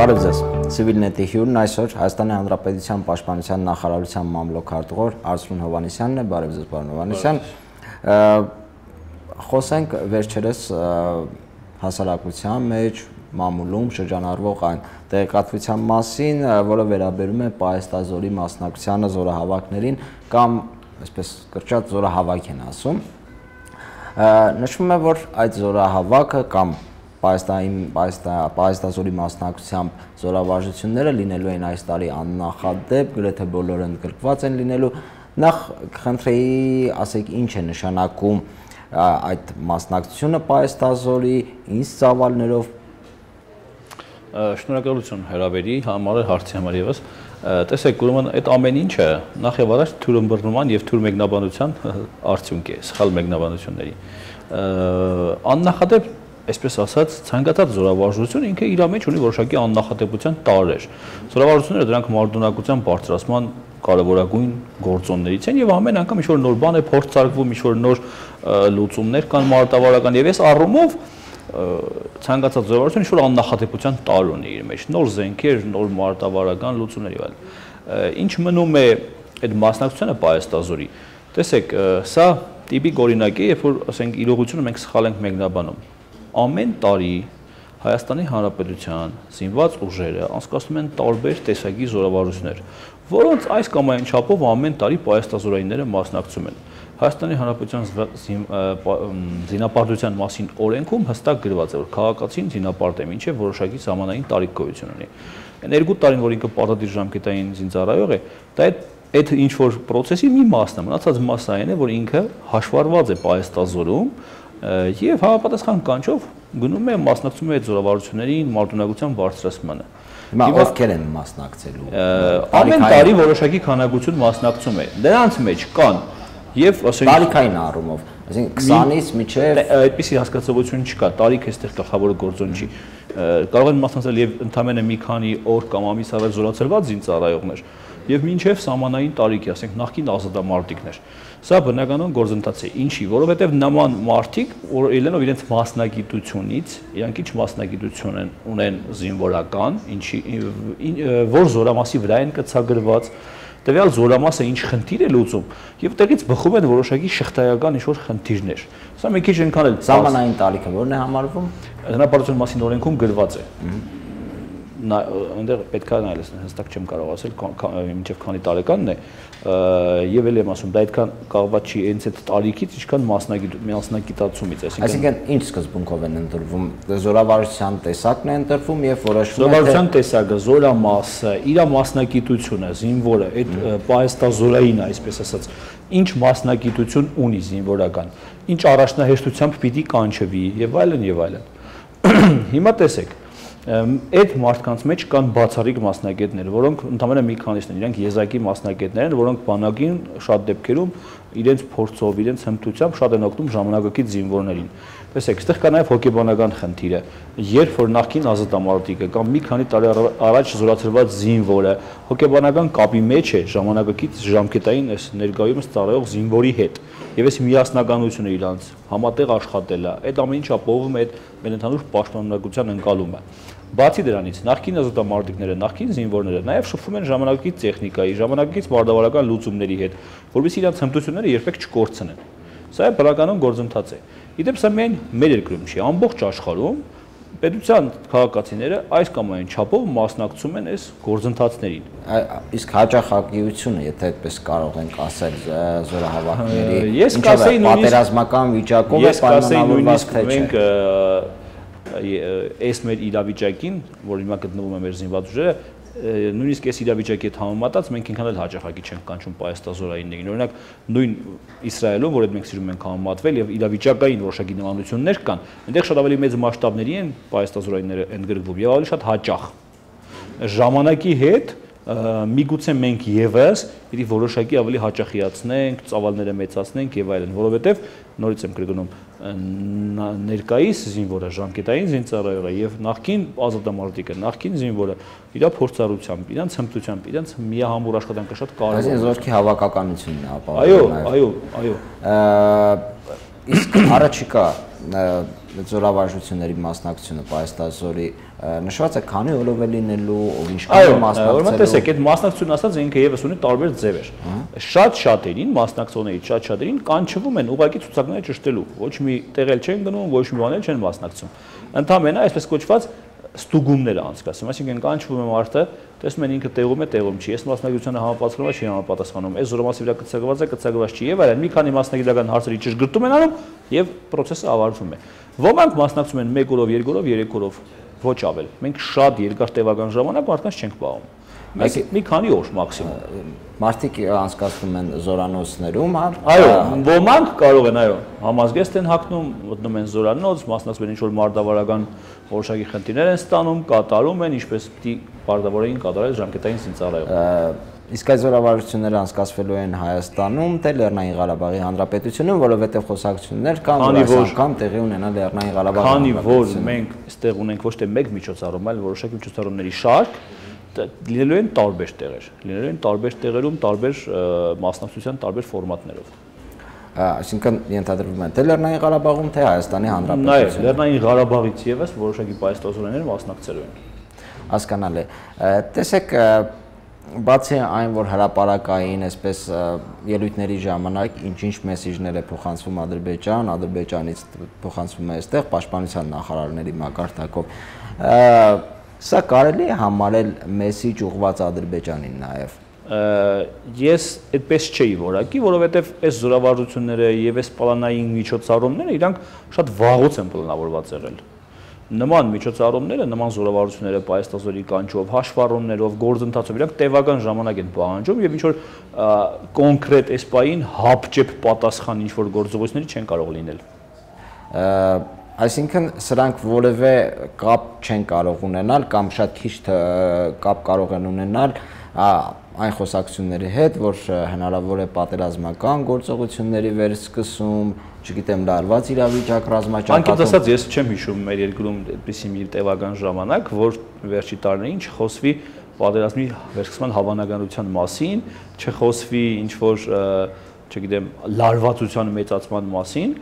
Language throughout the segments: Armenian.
Բարև ձեզ, Civilnet-ի հյուրն այսօր Հայաստանի Հանրապետության Պաշտպանության նախարարության մամլոքարտուղար Արսրուն Հովհաննիսյանն է, բարև ձեզ պարոն Հովհաննիսյան։ Խոսենք վերջերս հասարակության մեջ մամուլում շրջանառվող այն տեղեկատվության մասին, որը վերաբերում է պահեստազորի մասնակցությանը զորահավաքներին կամ այսպես կրճատ զորահավաք են ասում։ Նշվում է, որ այդ զորահավաքը կամ պահեստազորի մասնակցությամբ զորավարժությունները լինելու են այս տարի աննախադեպ, գրեթե բոլորը ընդգրկված են լինելու։ Նախ խնդրեի ասեք ինչ է նշանակում այդ մասնակցությունը պահեստազորի, ինչ ծավալներով։ Շնորհակալություն հրավերի համար, հարցի համար ևս։ Տեսեք, ուրեմն այդ ամեն ինչը նախ եւ առաջ թյուրըմբռնման եւ թյուր մեկնաբանության արդյունք է, սխալ մեկնաբանությունների։ Աննախադեպ այսպես ասած, ցանկացած զորավարժություն ինքը իր մեջ ունի որոշակի աննախադեպության տարրեր։ Զորավարժությունները դրանք մարտունակության բարձրացման կարևորագույն գործոններից են եւ ամեն անգամ ինչ-որ նոր բան է փորձարկվում, ինչ-որ նոր լուծումներ կան մարտավարական եւ այս առումով ցանկացած զորավարժություն ինչ-որ աննախադեպության տարր ունի իր մեջ, նոր զենքեր, նոր մարտավարական լուծումներ եւ այլն։ Ինչ մնում է այդ մասնակցությունը պահեստազորի։ Տեսեք, սա տիպիկ օրինակ է, երբ որ ասենք իրողությունը մենք սխալ ենք մեկնաբանում։ Ամեն տարի Հայաստանի Հանրապետության զինված ուժերը անցկացնում են տարբեր տեսակի զորավարժություններ, որոնց այս կամ այն չափով ամեն տարի պահեստազորայինները մասնակցում են։ Հայաստանի Հանրապետության զինապարտության մասին օրենքում հստակ գրված է, որ քաղաքացին զինապարտ է, մինչև որոշակի սահմանային տարիք գոյություն ունի։ Այն 2 տարին, որ ինքը պարտադիր ժամկետային զինծառայող է, դա այդ ինչ որ process-ի մի մասն է, մնացած մասը այն է, որ ինքը հաշվառված է պահեստազորում եւ համապատասխան կանչով գնում է մասնակցում է այդ զորավարժություններին մարտունակության բարձրացմանը։ Հիմա ովքեր են մասնակցելու։ Ամեն տարի որոշակի քանակություն մասնակցում է։ Դրանց մեջ կան եւ ասենք տարիքային առումով, այսինքն 20-ից մինչև այդպիսի հասկացողություն չկա, տարիք էստեղ գլխավոր գործոն չի։ Կարող են մասնակցել եւ ընդամենը մի քանի օր կամ ամիս առաջ զորացրված զինծառայողներ եւ մինչև սահմանային տարիքի, ասենք նախկին ազատամարտիկներ։ Սա բնականon գործընթաց է, ինչի, որովհետև նման մարդիկ, որ ելնելով իրենց մասնագիտությունից, իրանք ինչ մասնագիտություն ունեն զինվորական, որ զորամասի վրա են կցագրված, տվյալ զորամասը ինչ խնդիր է լուծում, եւ տեղից բխում են որոշակի շղթայական ինչ-որ խնդիրներ։ Սա մի քիչ այնքան էլ սահմանային տարիքը ո՞րն է համարվում։ Հնարավորություն մասին օրենքում գրված է։ Այնտեղ պետք է նայել, հստակ չեմ կարող ասել, մինչև քանի տարեկանն է, եւ էլ եմ ասում, դա այդքան կախված չի հենց այդ տարիքից, ինչքան մասնագիտացումից, այսինքն ինչ սկզբունքով են ընտրվում, զորավարժության տեսակն է ընտրվում եւ որոշվում է զորավարժության տեսակը, զորամասը, իր մասնագիտությունը, զինվորը, այդ պահեստազորային, այսպես ասած, ինչ մասնագիտություն ունի զինվորական, ինչ առաջնահերթությամբ պիտի կանչվի եւ այլն եւ այլն։ Հիմա տեսեք, այդ մարդկանց մեջ կան բացառիկ մասնագետներ, որոնք ընդհանրապես մի քանիսն են, իրենք եզակի մասնագետներ են, որոնք բանակին շատ դեպքերում իրենց փորձով, իրենց հմտությամբ շատ են օգնում ժամանակակից զինվորներին։ Տեսեք, այստեղ կա նաև հոգեբանական խնդիրը, երբ որ նախկին ազատամարտիկը կամ մի քանի տարի առաջ զորացրված զինվորը հոգեբանական կապի մեջ է ժամանակակից ժամկետային այս ներկայումս ծառայող զինվորի հետ, եւ այս միասնականությունը իրանց համատեղ աշխատելը, այդ ամեն ինչը ապահովում է այդ մեր ընդհանուր պաշտպանողության ընկալումը։ Բացի դրանից, նախկին ազատամարտիկները, նախկին զինվորները նաև շփվում են ժամանակակից տեխնիկայի, ժամանակակից մարտավարական լուծումների հետ, որովհետեւ իրենց հմտությունները երբեք չկորցնեն։ Սա է բնականon գործընթաց է։ Իդեպ սա միայն մեր երկրում չի, ամբողջ աշխարհում պետության քաղաքացիները այս կամ այն չափով մասնակցում են այս գործընթացներին։ Իսկ հաճախակիությունը, եթե այդպես կարող ենք ասել, զորահավաքների, ես կասեի պատերազմական վիճակով է պայմանավորված թե չէ։ Այս մեր իրավիճակին, որ հիմա գտնվում է մեր զինված ուժերը, նույնիսկ այս իրավիճակի հետ համեմատած մենք ինքան էլ հաճախակի չենք կանչում պահեստազորայիններին։ Օրինակ նույն Իսրայելում, որ մենք սիրում ենք համեմատվել եւ իրավիճակային որոշակի նմանություններ կան, այնտեղ շատ ավելի մեծ մասշտաբների են պահեստազորայինները ընդգրկվում եւ ավելի շատ հաճախ։ Ժամանակի հետ միգուցե մենք եւս պիտի որոշակի ավելի հաճախիացնենք, ծավալները մեծացնենք եւ այլն, որովհետեւ նորից եմ կրկնում, ներկայիս զինվորը, ժամկետային զինծառայողը եւ նախկին ազատամարտիկը, նախկին զինվորը իր փորձառությամբ, իրենց հմտությամբ, իրենց միահամուռ աշխատանքը շատ կարեւոր է։ Այսինքն զորքի հավաքականությունն է ապահովում։ Այո։ Իսկ առաջիկա զորավարժությունների մասնակցությունը պայստազորի նշված է քանի օրով է լինելու, ով ինչքան մասնակցելու։ Այո, տեսեք, այդ մասնակցությունը ասած ինքը եւս ունի տարբեր ձևեր։ Շատ-շատերին մասնակցողներից շատ-շատերին կանչվում են ուղղակի ցուցակները ճշտելու։ Ոչ մի տեղել չեն գնում, ոչ մի բան չեն մասնակցում։ Ընդհանրապես այսպես կոչված ստուգումներ անցկացում, այսինքն կանչվում է մարդը, տեսնում են ինքը տեղում է, տեղում չի, այս մասնագիտությանը համապատասխանում է, չի համապատասխանում, այս զորամասի վրա կցակված է, կցակված չի եւ այլն։ Մի քանի մասնագիտական հարցերի ճշգրտում են անում եւ process-ը ավարտվում է։ Ոմանք մասնակցում են 1 օրով, 2 օրով, 3 օրով, ոչ ավել։ Մենք շատ երկար տևական ժամանակ մարդկանց չենք պահում։ Մի քանի օր մաքսիմում։ Մարդիկ անցկացնում են զորանոցներում, հա։ Այո, ոմանք կարող են, այո, համազգեստ են հագնում, մտնում են զորանոց, մասնակցում են ինչ-որ մարտավարական որոշակի խնդիրներ են ստանում, կատարում են, ինչպես պիտի պարտավորային կատարել ժամկետային զինծառայողները։ Իսկ այս զորավարժությունները անցկացվելու են Հայաստանում, թե Լեռնային Ղարաբաղի Հանրապետությունում, որովհետև խոսակցություններ կան, որ այս անգամ տեղի ունենա Լեռնային Ղարաբաղի Հանրապետությունում։ Քանի որ մենք այստեղ ունենք ոչ թե մեկ միջոցառում, այլ որոշակի միջոցառումների շարք, լինելու են տարբեր տեղեր, լինելու են տարբեր տեղերում, տարբեր մասնակցության տարբեր ֆորմատներով։ Այսինքն ենթադրվում է թե Լեռնային Ղարաբաղում, թե Հայաստանի Հանրապետությունում։ Նաև Լեռնային Ղարաբաղից եւս որոշակի պայստազորներ մասնակցելու են։ Հասկանալի։ Տեսեք, բացի այն, որ հրապարակային այսպես ելույթների ժամանակ ինչ-ինչ մեսիջներ է փոխանցվում Ադրբեջան, Ադրբեջանից փոխանցվում է այստեղ պաշտպանության նախարարների մակարդակով, սա կարելի է համարել մեսիջ ուղղված Ադրբեջանին նաև։ Ես այդպես չէի որակի, որովհետև այս զորավարժությունները եւ այս պլանային միջոցառումները իրանք շատ վաղուց են պլանավորված եղել։ Նման միջոցառումները, նման զորավարժությունները պայստազորի կանչով, հաշվառումներով, գործընթացով իրանք տևական ժամանակ են պահանջում եւ ինչ որ կոնկրետ այս պահին հապճեպ պատասխան ինչ որ գործողությունների չեն կարող լինել։ Այսինքն սրանք որևէ կապ չեն կարող ունենալ կամ շատ քիչ կապ կարող են ունենալ այն խոսակցությունների հետ, որ հնարավոր է պատերազմական գործողությունների վերսկսում, չգիտեմ, լարված իրավիճակ ռազմաճակատում։ Անկեղծ ասած, ես չեմ հիշում մեր երկրում այդպիսի մի տևական ժամանակ, որ վերջի տարիներին չխոսվի պատերազմի վերսկսման հավանականության մասին, չխոսվի ինչ որ, չգիտեմ, լարվածության մեծացման մասին։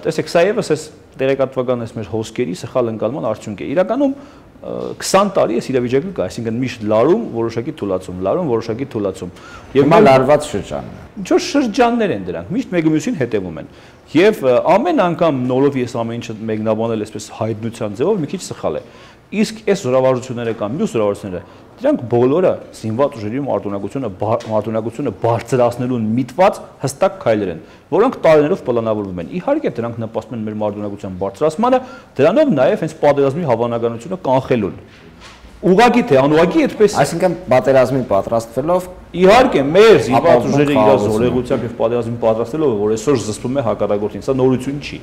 Տեսեք, սա եւս այս տեղեկատվական այս մեր հոսքերի սխալ ընկալման արդյունք է։ Իրականում 20 տարի այս իրավիճակը կա, այսինքն միշտ լարում, որոշակի թուլացում, լարում, որոշակի թուլացում։ Եվ հիմա լարված շրջան։ Ինչ որ շրջաններ են դրանք, միշտ մեկը մյուսին հետևում են։ Եվ ամեն անգամ նորով ես ամեն ինչը մեկնաբանել այսպես հայտնության ձևով մի քիչ սխալ է։ Իսկ այս զորավարժությունները կամ մյուս զորավարժությունները, դրանք բոլորը զինված ուժերի մարտունակությունը բարձրացնելուն միտված հստակ քայլեր են, որոնք տարիներով պլանավորվում են։ Իհարկե, դրանք նպաստում են մեր մարտունակության բարձրացմանը, դրանով նաև հենց պատերազմի հավանականությունը կանխելուն։ Ուղղակի թե անուղղակի այդպես։ Այսինքն պատերազմի պատրաստվելով իհարկե մեր զինված ուժերը իր զորեղությամբ եւ պատերազմին պատրաստելով, որ այսօր զսպում է հակառակորդին, սա նորություն չի։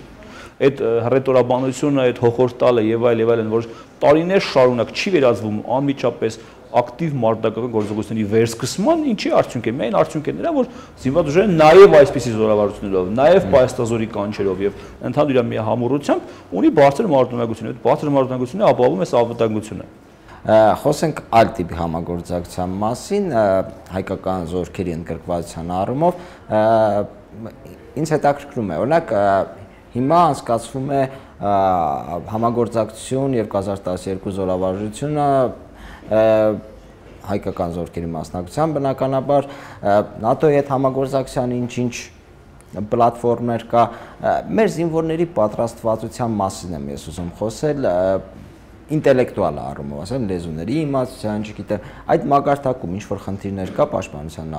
Այդ հռետորաբանությունը, այդ հոխորտալը եւ այլն, որ տարիներ շարունակ չի վերածվում անմիջապես ակտիվ մարտական գործողությունների վերսկսման, ինչի արդյունք է։ Միայն արդյունք է նրա, որ զինված ուժերը նաեւ այսպիսի զորավարություններով, նաեւ պայստազորի կանչերով եւ ընդհանուր մի համառությամբ ունի բարձր մարտունակություն։ Այդ բարձր մարտունակությունը ապահովում է սահմանությունը։ Խոսենք այլ տիպի համագործակցության մասին, հայկական զորքերի ընդգրկվածության առումով, ինձ հետաքրքրում է, օրինակ հիմա անցկացվում է համագործակցություն եւ 2012 զորավարժությունը հայկական զորքերի մասնակցությամբ բնականաբար ՆԱՏՕ-ի հետ համագործակցության ինչ-ինչ պլատֆորմներ կա, մեր զինվորների պատրաստվածության մասին եմ ես ուզում խոսել, ինտելեկտուալ առումով, ասեմ, լեզուների իմացության, չգիտեմ, այդ մակարդակում ինչ որ խնդիրներ կա պաշտպանության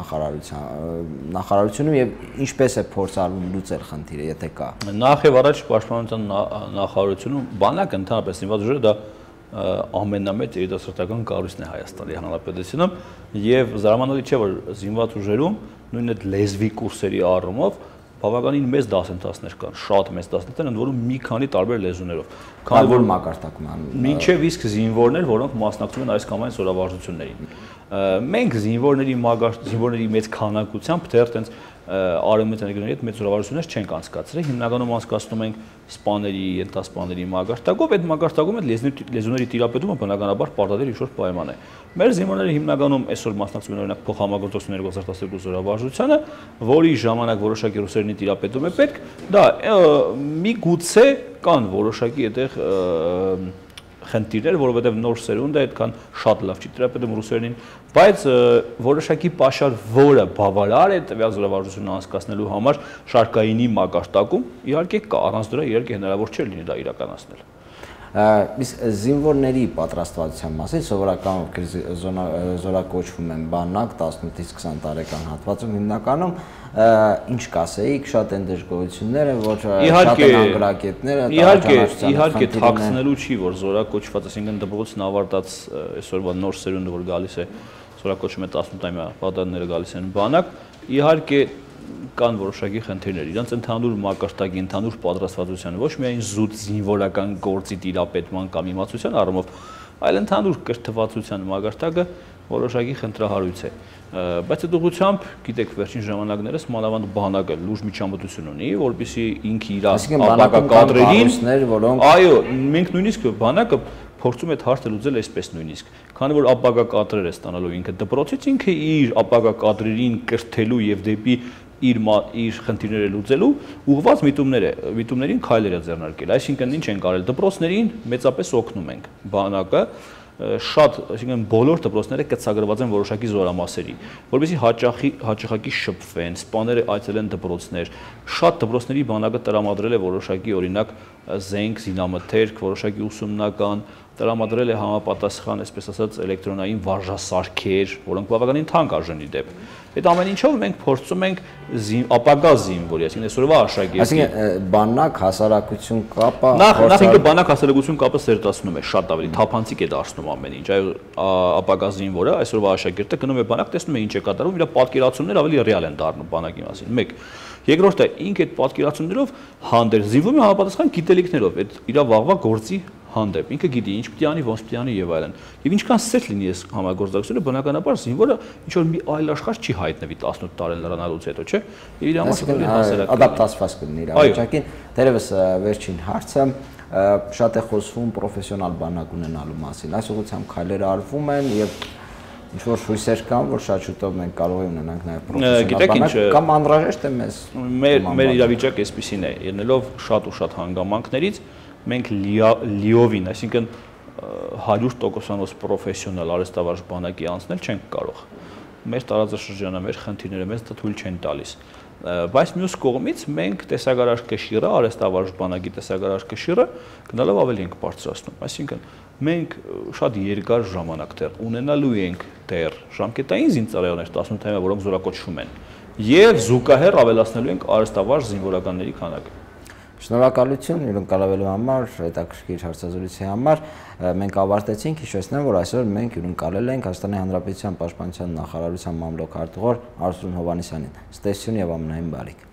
նախարարությունում եւ ինչպես է փորձառվում լուծել խնդիրը, եթե կա։ Նախ եւ առաջ պաշտպանության նախարարությունում բանակ ընդհանրապես զինված ուժերը դա ամենամեծ երիտասարդական կառույցն է Հայաստանի Հանրապետությունում եւ զարմանալի չէ, որ զինված ուժերում նույն այդ լեզվի կուրսերի առումով բավականին մեծ դասընթացներ կան, շատ մեծ դասընթացներ, ընդ որում մի քանի տարբեր լեզուներով։ Քանի որ մակարդակում են։ Մինչև իսկ զինվորներ, որոնք մասնակցում են այս կամ այն զորավարժություններին։ Մենք զինվորների մեծ քանակությամբ դեռ տենց արևմտյան երկրների հետ մեծ զորավարություններ չենք անցկացրել, հիմնականում անցկացնում ենք սպաների, ենթասպաների մակարդակով, այդ մակարդակում այդ լեզուների տիրապետումը բնականաբար պարտադիր ինչ-որ պայման է։ Մեր զինվորները հիմնականում այսօր մասնակցում են օրինակ փոխհամագործակցություն 2012 զորավարժությանը, որի ժամանակ որոշակի ռուսերենի տիրապետում է պետք, դա միգուցե կան որոշակի այդտեղ խնդիրներ, որովհետև նոր սերունդը այդքան շատ լավ չի տիրապետում ռուսերենին, բայց որոշակի պաշար, որը բավարար է տվյալ զորավարժությունը անցկացնելու համար շարքայինի մակարդակում, իհարկե կա, առանց դրա իհարկե հնարավոր չէ լինի դա իրականացնել։ Իսկ զինվորների պատրաստվածության մասին սովորական զորակոչվում են բանակ 18-ից 20 տարեկան հատվածում հիմնականում ինչ կասեիք, շատ են դժգոհությունները, որ շատ են անգրակետները, իհարկե թաքցնելու չի, որ զորակոչված, այսինքն դպրոցն ավարտած այսօրվա նոր սերունդը, որ գալիս է, զորակոչում է 18-ամյա պատանները գալիս են բանակ, իհարկե կան որոշակի խնդիրներ, իրանց ընդհանուր մակարդակի, ընդհանուր պատրաստվածության, ոչ միայն զուտ զինվորական գործի տիրապետման կամ իմացության առումով, այլ ընդհանուր կրթվածության մակարդակը որոշակի խնդրահարույց է։ Բայց այդ ուղղությամբ, գիտեք, վերջին ժամանակներս մանավանդ բանակը լուրջ միջամտություն ունի, որպեսզի ինքը իր ապագա կադրերին, այո, մենք նույնիսկ բանակը փորձում է հարցը լուծել այսպես նույնիսկ, քանի որ ապագա կադրեր է ստանալու ինքը դպրոցից, ինքը իր ապագա կադրերին կրթելու եւ դեպի իր խնդիրները լուծելու ուղղված միտումներին քայլեր է ձեռնարկել։ Այսինքն ինչ ենք արել, դպրոցներին մեծապես օգնում ենք, բանակը շատ, այսինքն բոլոր դպրոցները կցագրված են որոշակի զորամասերի, որովհետեւ հաճախակի շփվեն, սպաները այցելեն դպրոցներ, շատ դպրոցների բանակը տրամադրել է որոշակի օրինակ զենք, զինամթերք, որոշակի ուսումնական, տրամադրել է համապատասխան, այսպես ասած, էլեկտրոնային վարժասարքեր, որոնք բավականին թանկ արժանի դեպ։ Այդ ամեն ինչով մենք փորձում ենք ապագա զինվորի, այսինքն այսօրվա աշակերտի։ Այսինքն բանակ հասարակություն կապը նախ ինքը բանակ հասարակություն կապը սերտացնում է, շատ ավելի թափանցիկ է դարձնում ամեն ինչ։ Այո, ապագա զինվորը, այսօրվա աշակերտը գնում է բանակ, տեսնում է ինչ է կատարվում, իր պատկերացումները ավելի ռեալ են դառնում բանակի մասին։ Մեկ։ Երկրորդը, ինքը այդ պատկերացումներով հանդերձ զինվում է համապատասխան գիտելիքներով, այդ իր վաղվա գործի հանդեպ, ինքը գիտի ինչ պիտի անի, ոնց պիտի անի եւ այլն։ Եվ ինչքան սերտ լինի այս համագործակցությունը, բնականաբար զինվորը ինչ որ մի այլ աշխարհ չի հայտնվի 18 տարի լրանալուց հետո, չէ՞։ Եվ իր համար շատ հասարակ ադապտացված կլինի իր վիճակին։ Դերևս վերջին հարցը շատ է խոսվում պրոֆեսիոնալ բանակ ունենալու մասին։ Այս ուղղությամբ քայլեր արվում են եւ ինչ որ հույսեր կան, որ շատ շուտով մենք կարող ենք ունենանք նաեւ պրոֆեսիոնալ բանակ կամ անհրաժեշտ է մեզ։ Մեր իրավիճակը այսպեսին է, ելնելով շատ ու շատ հանգամանքներից մենք լիովին, այսինքն 100% պրոֆեսիոնալ արհեստավարժ բանակի անցնել չենք կարող։ Մեր տարածաշրջանը, մեր խնդիրները մեզ դա թույլ չեն տալիս։ Բայց մյուս կողմից մենք տեսակարար կշիռը, արհեստավարժ բանակի տեսակարար կշիռը գնալով ավելի ենք բարձրացնում։ Այսինքն մենք շատ երկար ժամանակ դեռ ունենալու ենք դեռ ժամկետային զինծառայողներ 18-ամյա, որոնք զորակոչվում են, եւ զուգահեռ ավելացնելու ենք արհեստավարժ զինվորականների քանակը։ Շնորհակալություն հյուրընկալվելու համար, հետաքրքիր հարցազրույցի համար։ Մենք ավարտեցինք, հիշեցնեմ, որ այսօր մենք հյուրընկալել ենք Հայաստանի Հանրապետության Պաշտպանության նախարարության մամլոք արտուղար Արսրուն Հովհաննիսյանին։ Ստեսություն եւ ամենայն բարիք։